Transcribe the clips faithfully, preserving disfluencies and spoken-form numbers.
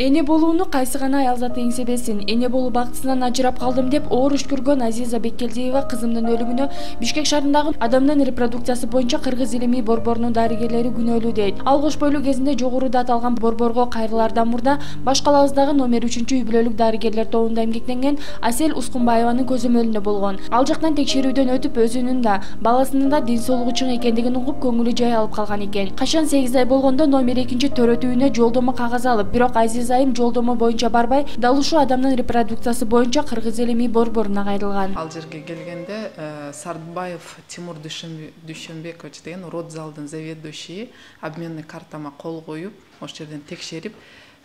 Эне болууну кайсы гана аял заты эңсебесин. Эне болуу бактысынан ажырап калдым деп оор үч көргөн Азиза Беккелдиева кызымдын өлүмүнө Бишкек шаарындагы адамдын репродукциясы боюнча Кыргыз илимий борборунун дарыгерлери күнөөлүү дейт. Ал кош бойлуу кезинде жогоруда аталган борборго кайрылаардан мурда баш калабыздагы номер үчүнчү үй бүлөлүк дарыгерлер тобунда эмгектенген Асель Ускунбаеванын көзөмөлүндө болгон. Ал жактан текшерүүдөн өтүп өзүнүн да баласынын да ден соолугу чың экендигин угуп көңүлү жай алып калган экен. Качан сегиз ай болгондо номер экинчи төрөтүүнө жолдомо кагаз алып, бирок Азиза айым жолдомо боюнча барбай, дал ушул адамдын репродукциясы боюнча Кыргыз илимий борборуна кайрылган. Ал жерге келгенде Сартбаев Тимур Дүйшөнбекович деген родзалдын заведующий обменный картама кол коюп, ошол жерден текшерип,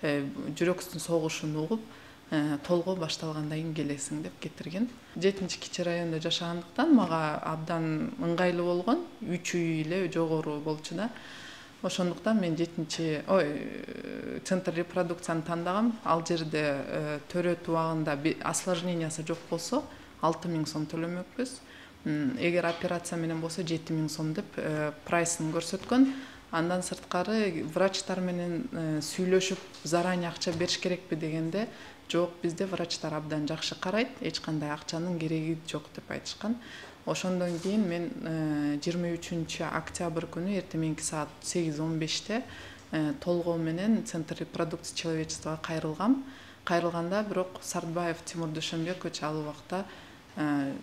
жүрөктүн согушун угуп, толгоо башталгандан кийин келесиң деп кетирген. жетинчи кичи райондо жашагандыктан мага абдан ыңгайлуу болгон, үч үй эле жогору болчу да. Ошондуктан мен жетинчи ой центр репродукцияны тандагам. Ал жерде төрөт убагында осложнениясы жок болсо алты миң сом төлөмөкпүз. Эгер операция менен болсо жети миң сом деп прайсын көрсөткөн. Андан сырткары врачтар менен сүйлөшүп заранее акча бериш керекпи дегенде, жок, бизде врачтар абдан жакшы карайт, эч кандай акчанын кереги жок деп айтышкан. Ошондон кийин мен жыйырма үчүнчү октябрь күнү эртең саат сегиз он беште толгоо менен Центр репродукции человечествого кайрылгам. Кайрылганда бирок Сартбаев Тимур Дүйшөнбекович ал убакта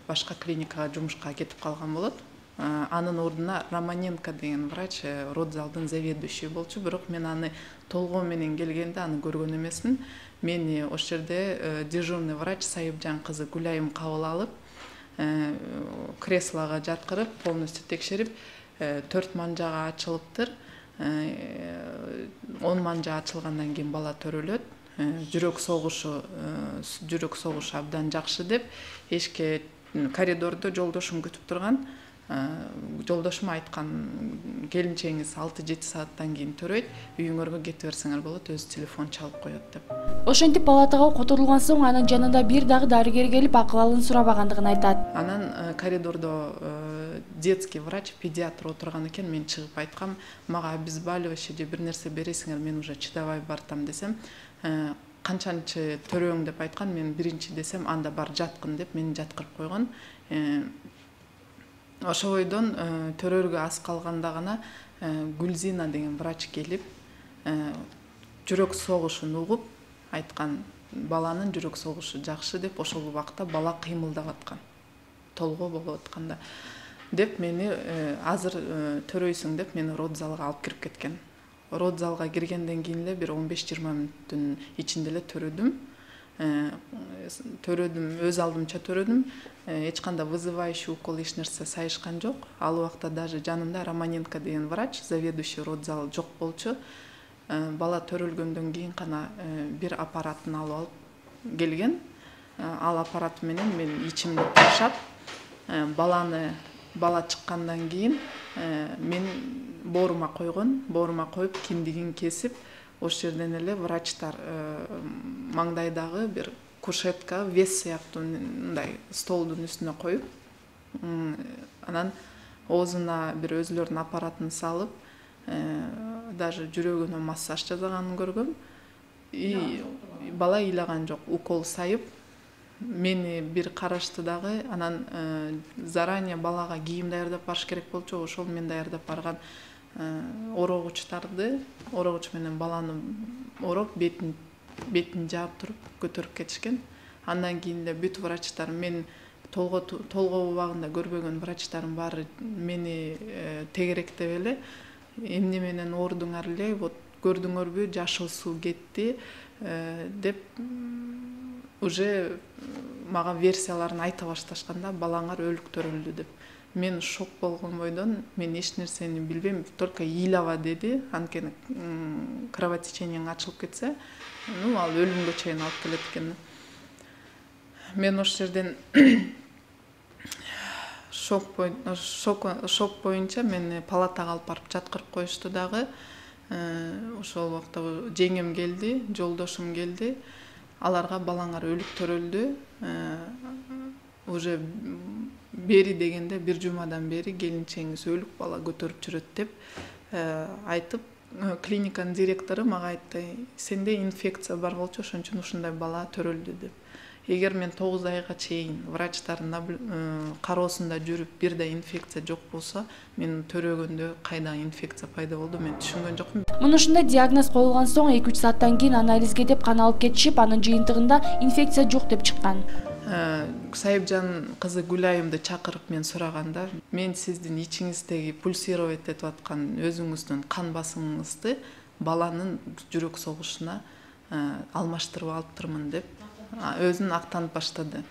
башка клиникага жумушка кетип калган болот. Анын ордуна Романенко деген врач родзалдын заведующий болчу, бирок мен аны толгоо менен келгенде аны көргөн эмесмин. Мени ошол жерде дежурный врач Сайыпжан кызы Гүлайым кабыл алып, креслого жаткырып, полностью текшерип, төрт манжага ачылыптыр. он манжа ачылгандан кийин бала төрөлөт. Жүрөк согушу, жүрөк согушу абдан жакшы деп эшикке коридордо жолдошум күтүп турган. Жолдошум айткан, келинчеңиз алты жети сааттан кийин төрөйт, үйүңөргө кете берсеңер болот, өзү телефон чалып коет деп. Ошентип палатага которулган соң анын жанында бир дагы дарыгер келип акыбалын сурабагандыгын айтат. Анан коридордо детский врач, педиатр отурган экен, мен чыгып айткам, мага обезболивающее же бир нерсе бересиңер, мен уже чыдабай бартам десем, канчанчы төрөң деп айткан, мен биринчи десем, анда бар жаткын деп мени жаткырып койгон. Ошо бойдон төрөргө аз калганда гана Гүлзина деген врач келип, жүрөк согушун угуп айткан, баланын жүрөк согушу жакшы деп, ошол убакта бала кыймылдап аткан, толгоо болуп атканда деп мени азыр төрөйсүң деп мени родзалга алып кирип кеткен. Родзалга киргенден кийин эле бир он беш жыйырма мүнөттүн ичинде эле төрөдүм. Төрөдүм, өз алдымча төрөдүм. Эч кандай вызывающий укол эч нерсе сайышкан жок. Ал убакта даже жанымда Романенко деген врач, заведующий родзал жок болчу. Бала төрөлгөндөн кийин гана бир аппаратын алып алып келген. Ал аппарат менен мен ичимди ташап, баланы бала чыккандан кийин мен боорума койгон, боорума коюп киндигин кесип, ошол жерден эле врачтар маңдайдагы бир кушетка, вес сыяктуу мындай столдун үстүнө коюп, анан оозуна бир өзүлөрүнүн аппаратын салып, даже жүрөгүнө массаж жасаганын көргөм. И бала ыйлаган жок, укол сайып, мени бир карашты дагы, анан заранее балага кийим даярдап барыш керек болчу, ошол мен даярдап барган орогучтарды, орогуч менен баланы ороп, бетин бетин жаап туруп көтөрүп кетишкен. Андан кийин эле бүт врачтар, мен толгоо толгоо убагында көрбөгөн врачтардын баары мени тегеректеп эле, эмне менен оорудуңар эле, вот көрдүңөрбү, жашыл суу кетти деп уже мага версияларын айта башташканда, балаңар өлүк төрөлдү деп. Мен шок болгон бойдон, мен эч нерсени билбейм, только ыйлаба деди, анткени кровотечениең ачылып кетсе, ну ал өлүмгө чейин алып келет экен. Мен ошол жерден шок шок боюнча мени палатага алып барып жаткырып коюшту дагы. Ошол убакта жеңем келди, жолдошум келди. Аларга балаңар өлүк төрөлдү. Уже бери дегенде бир жумадан бери келинчеңиз өлүк бала көтөрүп жүрөт деп айтып, клиниканын директору мага айтты, сенде инфекция бар болчу, ошон үчүн ушундай бала төрөлдү деп. Эгер мен тогуз айга чейин врачтардын кароосунда жүрүп бир да инфекция жок болсо, мен төрөгөндө кайда инфекция пайда болду мен түшүнгөн жокмун. Мына ушундай диагноз коюлган соң эки үч сааттан кийин анализге деп кан алып кетишип, анын жыйынтыгында инфекция жок деп чыккан. Сайыпжан кызы Гүлайымды чакырып мен сураганда, мен сиздин ичиңиздеги пульсировать этип аткан өзүңүздүн кан басымыңызды баланын жүрөк согушуна алмаштырып алыптырмын деп өзүн актанып баштады.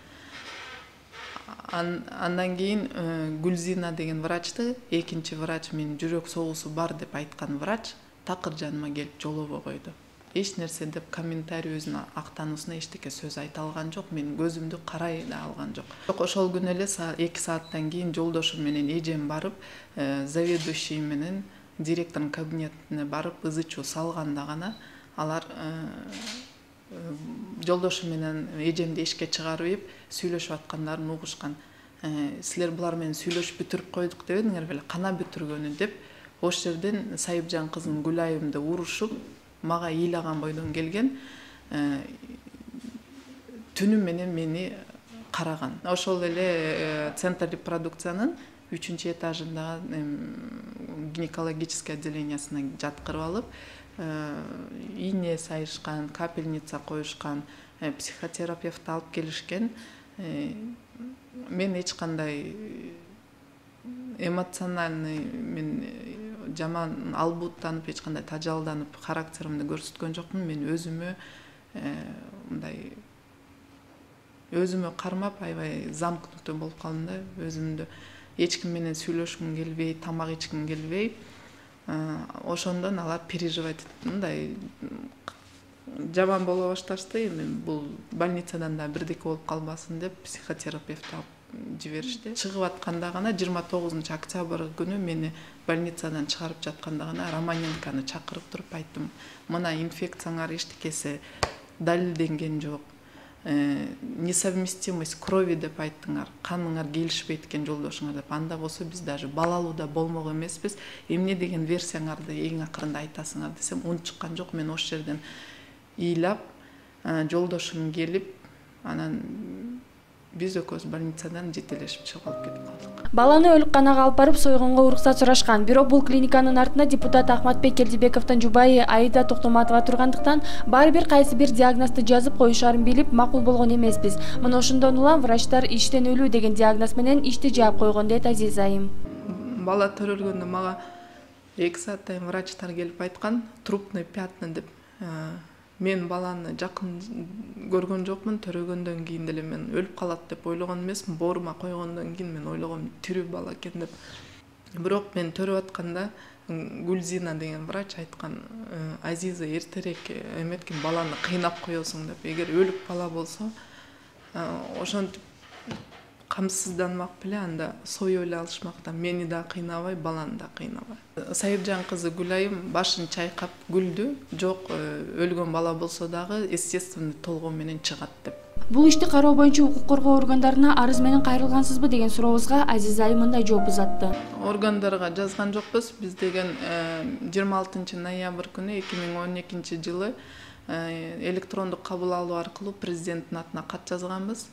Андан кийин Гүлзина деген врачты, экинчи врач, мен жүрөк согуусу бар деп айткан врач такыр жаныма келип жолобой койду. Эч нерсе деп комментарий өзүнүн актануусуна эчтеке сөз айта алган жок, мен көзүмдү карай да алган жок. Ошол күнү эле эки сааттан кийин жолдошум менен эжем барып, заведующий менен директордун кабинетине барып ызы чуу салганда гана алар жолдошум менен эжемди эшикке чыгарып ийип сүйлөшүп аткандарын угушкан. Силер булар менен сүйлөшүп бүтүрүп койдук дебедиңер беле, кана бүтүргөнү деп, ош жерден Сайыпжан кызын Гүлайымды урушуп мага ыйлаган бойдон келген, түнү менен мени караган. Ошол эле центр репродукциянын үчүнчү этажындагы гинекологический отделениясына жаткырып алып, ийне сайышкан, капельница коюшкан, психотерапевт алып келишкен. Мен эч кандай эмоциональный, мен жаман албуттанып, эч кандай тажалданып, характеримди көрсөткөн жокмун. Мен өзүмө мындай өзүмө кармап, аябай замкнутый болуп калдым да, өзүмдү эч ким менен сүйлөшкүм келбей, тамак ичким келбей. Ошондон алар переживать мындай жаман боло башташты. Мен бул больницадан да бирдеке болуп калбасын деп психотерапевт алып жиберишти. Чыгып атканда гана жыйырма тогузунчу октябрь күнү мени больницадан чыгарып жатканда гана Романенканы чакырып туруп айттым: мына инфекцияңар эчтекеси далилденген жок, несовместимость крови деп айттыңар, каныңар келишпейт экен жолдошуңар деп. Анда болсо биз даже балалуу да болмок эмеспиз, эмне деген версияңарды эң акырында айтасыңар десем, унут чыккан жок. Мен ош жерден ыйлап, жолдошум келип, анан биз экөөбүз больницадан жетелешип чыгып алып кетип калдык. Баланы өлүкканага алып барып сойгонго уруксат сурашкан. Бирок бул клиниканын артында депутат Ахматбек Келдибековдун жубайы Аида Токтоматова тургандыктан баары бир кайсы бир диагнозду жазып коюшарын билип макул болгон эмеспиз. Мына ошондон улам врачтар иштен өлүү деген диагноз менен ишти жаап койгон дейт Азиза айым. Бала төрөлгөндө мага эки сааттан врачтар келип айткан, трупный пятна деп. Мен баланы жакын көргөн жокмун, төрөгөндөн кийин деле мен өлүп калат деп ойлогон эмесмин. Боорума койгондон кийин мен ойлогом тирүү бала экен деп. Бирок мен төрөп атканда Гүлзина деген врач айткан: Азиза, эртерээк эметкин, баланы кыйнап коесуң деп. Эгер өлүк бала болсо, ошентип камсызданмак беле, анда союп эле алышмак да. Мени да кыйнабай, баланы да кыйнабай. Сайыпжан кызы Гүлайым башын чайкап күлдү. Жок, өлгөн бала болсо дагы естественный толгоо менен чыгат деп. Бул ишти кароо боюнча укук коргоо органдарына арыз менен кайрылгансызбы деген сурообузга Азиза айым мындай жооп узатты. Органдарга жазган жокпуз. Биз деген жыйырма алтынчы ноябрь күнү эки миң он экинчи жылы электрондук кабыл алуу аркылуу президенттин атына кат жазганбыз.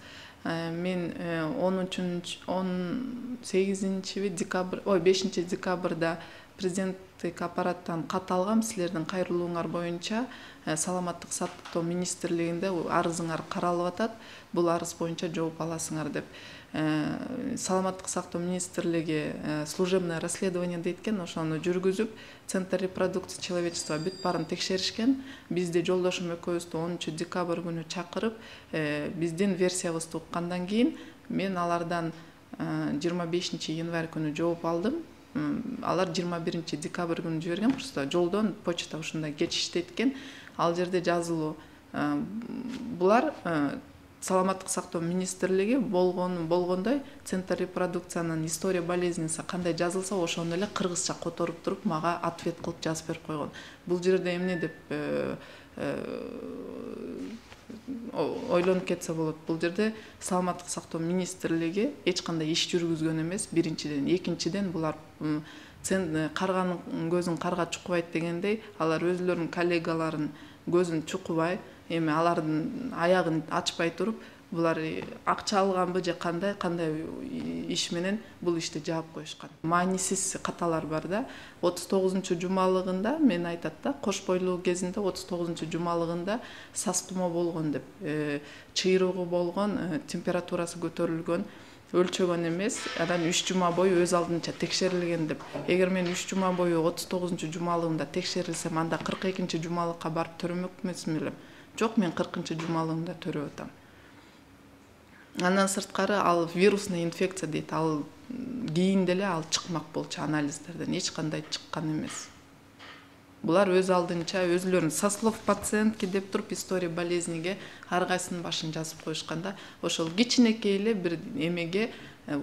Мен он сегизинчи декабрь, ой бешинчи декабрда президенттик аппараттан кат алгам. Силердин кайрылууңар боюнча саламаттык сактоо министрлигинде арызыңар каралып атат. Бул арыз боюнча жооп аласыңар деп. Саламаттык сактоо министрлиги служебное расследование дейткен, ошону жүргүзүп, центр репродукции человечества бүт баарын текшеришкен. Бизди жолдошум экөөбүздү онунчу декабрь күнү чакырып, биздин версиябызды уккандан кийин мен алардан жыйырма бешинчи январь күнү жооп алдым. Алар жыйырма биринчи декабрь күнү жиберген, просто жолдон почта ушундай кечиштейт экен. Ал жерде жазылуу булар саламаттык сактоо министрлиги болгон болгондой центр репродукциянын история болезненси кандай жазылса, ошону эле кыргызча которуп туруп мага ответ кылып жазып берип койгон. Бул жерде эмне деп ойлонуп кетсе болот. Бул жерде саламаттык сактоо министрлиги эч кандай иш жүргүзгөн эмес. Биринчиден, экинчиден булар карганын көзүн карга чукпайт дегендей, алар өзлөрүнүн коллегаларын көзүн чукубай, эми алардын аягын ачпай туруп, булар акча алганбы же кандай кандай иш менен бул ишти жаап коюшкан. Маанисиз каталар бар да. отуз тогузунчу жумалыгында мен айтат да, кош бойлуу кезинде отуз тогузунчу жумалыгында сас тумо болгон деп, чыйрыгы болгон, температурасы көтөрүлгөн, өлчөгөн эмес, анан үч жума бою өз алдынча текшерилген деп. Эгер мен үч жума бою отуз тогузунчу жумалыгымда текшерилсем, анда кырк экинчи жумалыкка барып төрөмөк эмесмин элем. Жок, мен кыркынчы жумалыгымда төрөп атам. Андан сырткары ал вирусный инфекция дейт. Ал кийин деле ал чыкмак болчу анализдерден, эч кандай чыккан эмес. Булар өз алдынча өзлөрүн со слов пациентки деп туруп история болезниге ар кайсынын башын жазып коюшканда, ошол кичинекей эле бир эмеге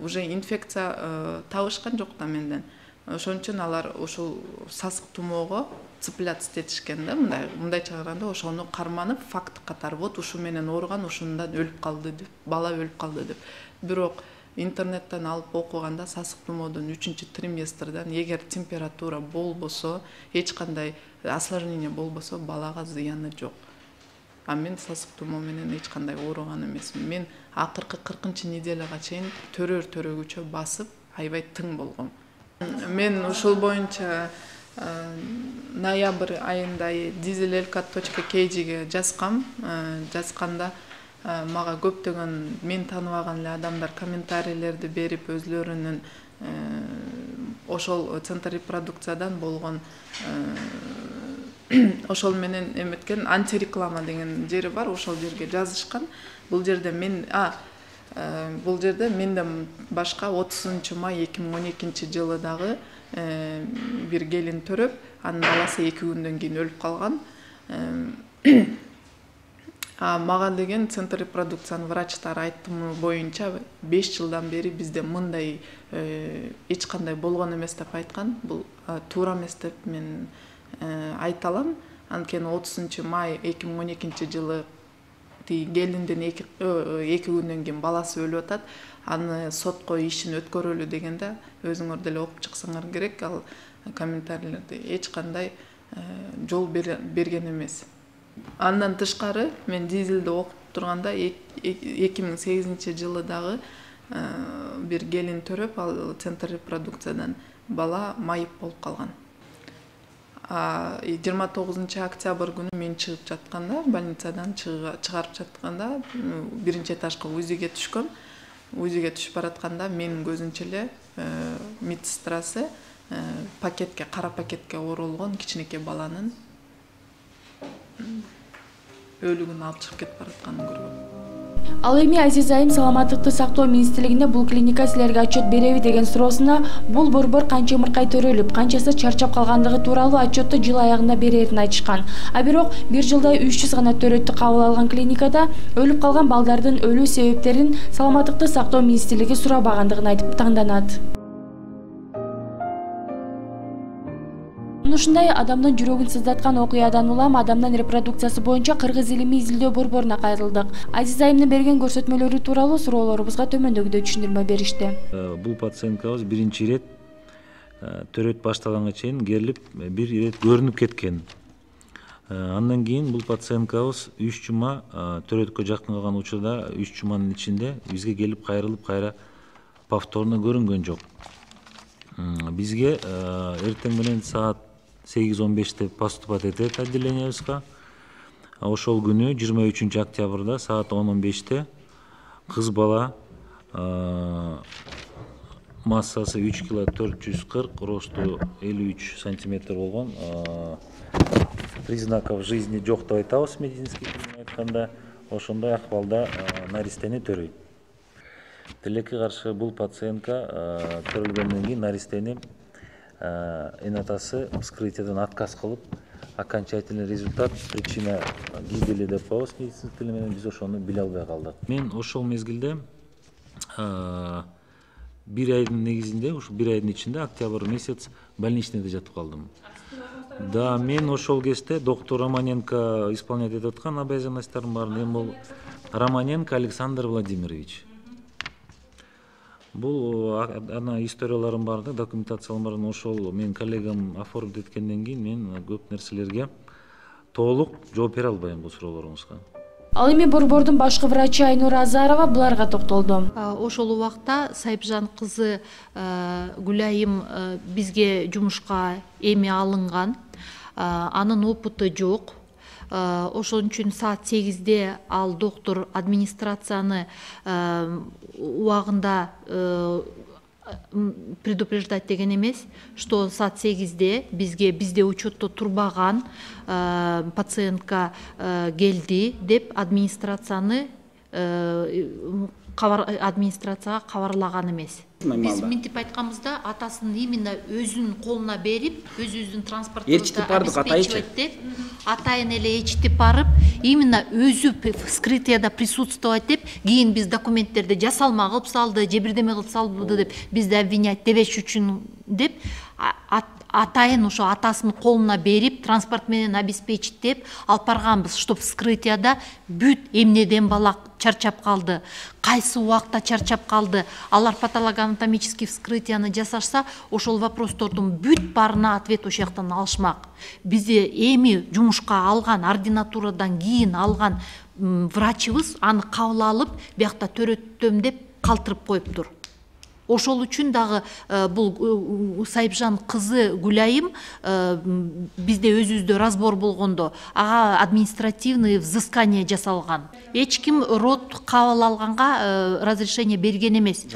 уже инфекция табышкан жок да менден. Ошон үчүн алар ошол сасык тумоого цепляться этишкен да, мындай мындайча караганда ошону карманып факт катары, вот ушу менен ооруган, ушундан өлүп калды деп, бала өлүп калды деп. Бирок интернеттен алып окуганда сасык тумоодон үчүнчү триместрден эгер температура болбосо, эч кандай осложнение болбосо, балага зыяны жок. А мен сасык тумоо менен эч кандай ооруган эмесмин. Мен акыркы кыркынчы неделяга чейин төрөр төрөгүчө басып, аябай тың болгом. Мен ушул боюнча ноябрь айында дизелелка точка кей джиге жазгам. Жазганда мага көптөгөн мен тааныбаган эле адамдар комментарийлерди берип, өзлөрүнүн ошол центр репродукциядан болгон ошол менен эметкен антиреклама деген жери бар, ошол жерге жазышкан. Бул жерде мен а бул жерде менден башка отузунчу май эки миң он экинчи жылы дагы бир келин төрөп, анын баласы эки күндөн кийин өлүп калган. А мага деген центр репродукциянын врачтары айттымы боюнча беш жылдан бери бизде мындай эч кандай болгон эмес деп айткан. Бул туура эмес деп мен айта алам. Анткени отузунчу май эки миң он экинчи жылы келиндин эки күндөн кийин баласы өлүп атат. Аны сотко ишин өткөрөлү дегенде өзүңөр деле окуп чыксаңар керек, ал комментарийлерди эч кандай жол берген эмес. Андан тышкары мен дизелди окуп турганда эки миң сегизинчи жылы дагы бир келин төрөп, ал центр репродукциядан бала майып болуп калган. жыйырма тогузунчу октябрь күнү мен чыгып жатканда, больницадан чыгарып жатканда биринчи этажга УЗИге түшкөм. УЗИге түшүп баратканда менин көзүмчө эле медсестрасы пакетке, кара пакетке оролгон кичинекей баланын өлүгүн алып чыгып кетип баратканын көргөм. Ал эми Азиз Айым саламаттыкты сактоо министрлигине бул клиника силерге отчет береби деген суроосуна бул борбор канча ымыркай төрөлүп, канчасы чарчап калгандыгы тууралуу отчетту жыл аягында берерин айтышкан. А бирок бир жылда үч жүз гана төрөттү кабыл алган клиникада өлүп калган балдардын өлүү себептерин саламаттыкты сактоо министрлиги сурабагандыгын айтып таңданат. Ушундай адамдын жүрөгүн сыздаткан окуядан улам адамдын репродукциясы боюнча Кыргыз илимий изилдөө борборуна кайрылдык. Азиз Айымдын берген көрсөтмөлөрү тууралуу суроолорубузга төмөндөгүдөй түшүндүрмө беришти. Бул пациенткабыз биринчи ирет төрөт башталганга чейин керилип, бир ирет көрүнүп кеткен. Андан кийин бул пациенткабыз үч жума төрөткө жакын калган учурда үч жуманын ичинде бизге келип кайрылып, кайра повторно көрүнгөн жок. Бизге эртең менен саат сегиз он беште поступат этет отделениябызга. Ошол күнү жыйырма үчүнчү октябрда саат он он беште кыз бала массасы үч кило төрт жүз кырк, росту элүү үч сантиметр болгон, признаков жизни жок деп айтабыз медицинский тилмен айтканда, ошондой акыбалда наристени төрөйт. Тилекке каршы бул пациентка көрүлгөндөн кийин наристени энатасы вскрытиядан отказ кылып, окончательный результат, причина гибели деп коебуз медицинский тил менен, биз ошону биле албай калдык. Мен ошол мезгилде бир айдын негизинде, ушу бир айдын ичинде октябрь месяц больничныйда жатып калдым. Да, мен ошол кезде доктор Романенко исполнять этип аткан обязанностьтарым бар. Эми бул Романенко Александр Владимирович. Бул ана историяларым бар да, документацияларым бар. Ошол менин коллегам оформить эткенден кийин мен көп нерселерге толук жооп бере албайм бул суроолоруңузга. Ал эми борбордун башкы врачы Айнура Азарова буларга токтолду. Ошол убакта Сайыпжан кызы Гүлайым бизге жумушка эми алынган. Анын опыты жок. Ошон үчүн саат сегизде ал доктор администрацияны убагында предупреждать деген эмес, что саат сегизде бизге бизде учетто турбаган пациентка келди деп администрацияны администрацияга кабарлаган эмес. Биз мынтип айтканбызда атасын именно өзүнүн колуна берип, өзүбүздүн транспортубузду обеспечивать деп, атайын эле ээрчитип барып, именно өзү вскрытияда присутствовать деп, кийин биз документтерди жасалма кылып салды, же бирдеме кылып салды деп, бизди обвинять дебеш үчүн деп, атайын ошо атасынын колуна берип, транспорт менен обеспечить деп алып барганбыз, чтоб вскрытияда бүт эмнеден бала чарчап калды, кайсы убакта чарчап калды, алар патологоанатомический вскрытияны жасашса, ошол вопростордун бүт баарына ответ ошол жактан алышмак. Бизде эми жумушка алган, ординатурадан кийин алган врачыбыз аны кабыл алып, биякта төрөттөм деп калтырып коюптур. Ошол үчүн дагы бул Сайыпжан кызы Гүлайым бизде өзүбүздө разбор болгондо ага административный взыскание жасалган. Эч ким род кабыл алганга разрешение берген эмес.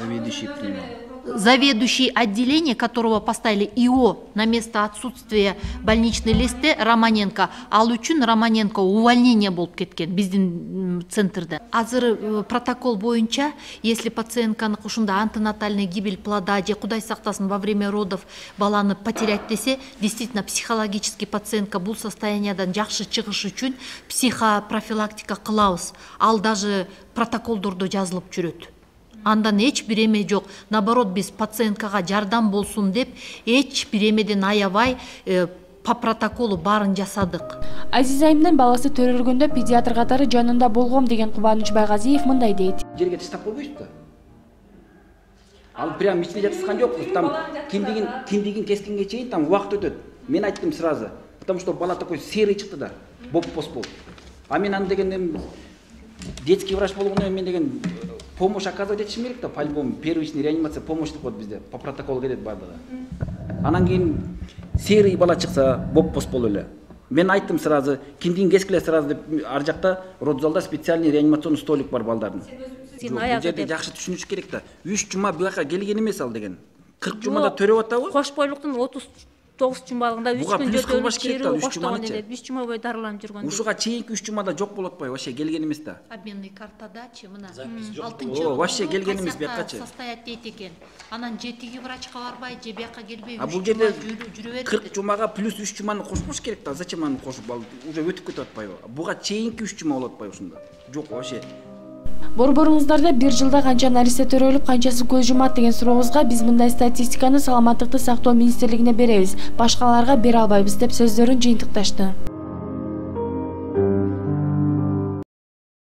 Заведующий отделение, которого поставили ИО на место отсутствия больничный листе, Романенко, ал үчүн Романенко увольнение болуп кеткен биздин центрде. Азыр протокол боюнча, если пациентканы ушунда антенатальный гибель плода, же Кудай сактасын во время родов баланы потерять десе, действительно психологический пациентка бул состояниядан жакшы чыгыш үчүн психопрофилактика кылабыз. Ал даже протоколдордо жазылып жүрөт. Андан эч бир эме жок. Наоборот, биз пациенткага жардам болсун деп эч бир эмеден аябай по протоколу баарын жасадык. Азиз Айымдын баласы төрөлгөндө педиатр катары жанында болгом деген Кубаныч Байгазиев мындай дейт. Жерге таштап койбойсуз да. Ал прям ичине жаткан жок. Там киндигин киндигин кескенге чейин там убакыт өтөт. Мен айттым сразу, потому что бала такой серый чыкты да. Боп-пос болуп. А мен аны деген детский врач болгондон мен деген помощь оказывать этишим керек да, по-любому первичный реанимация помощь деп коет бизде, по протоколу кетет бардыгы. Анан кийин серый бала чыкса, боп-пос болуп эле. Мен айттым сразу, киндигин кескиле сразу деп, ар жакта родзалда специальный реанимационный столик бар балдардын. Бул жерде жакшы түшүнүш керек да. үч жума буяка келген эмес ал деген. кырк жумада төрөп атабы? Кош бойлуктун отуз тогуз жумалыгында үч күн жөтөлүп керүү коштогон эле, үч жума бою дарыланып жүргөн. Ушуга чейинки үч жумада жок болуп атпайбы? Вообще келген эмес да. Обменный картадачы мына алтынчы О, вообще келген эмес биякачы. Состоять дейт экен. Анан жетиги врачка барбай, же бияка келбей үч жума жүрө берет. кырк жумага плюс үч жуманы кошпош керек да. Зачем аны кошуп ал уже өтүп кетип атпайбы? Буга чейинки үч жума болуп атпайбы ушунда? Жок вообще. Борборуңуздарда бир жылда канча нарисе төрөлүп, канчасы көз жумат деген сурообузга биз мындай статистиканы Саламаттыкты сактоо министрлигине беребиз, башкаларга бере албайбыз деп сөздөрүн жыйынтыкташты.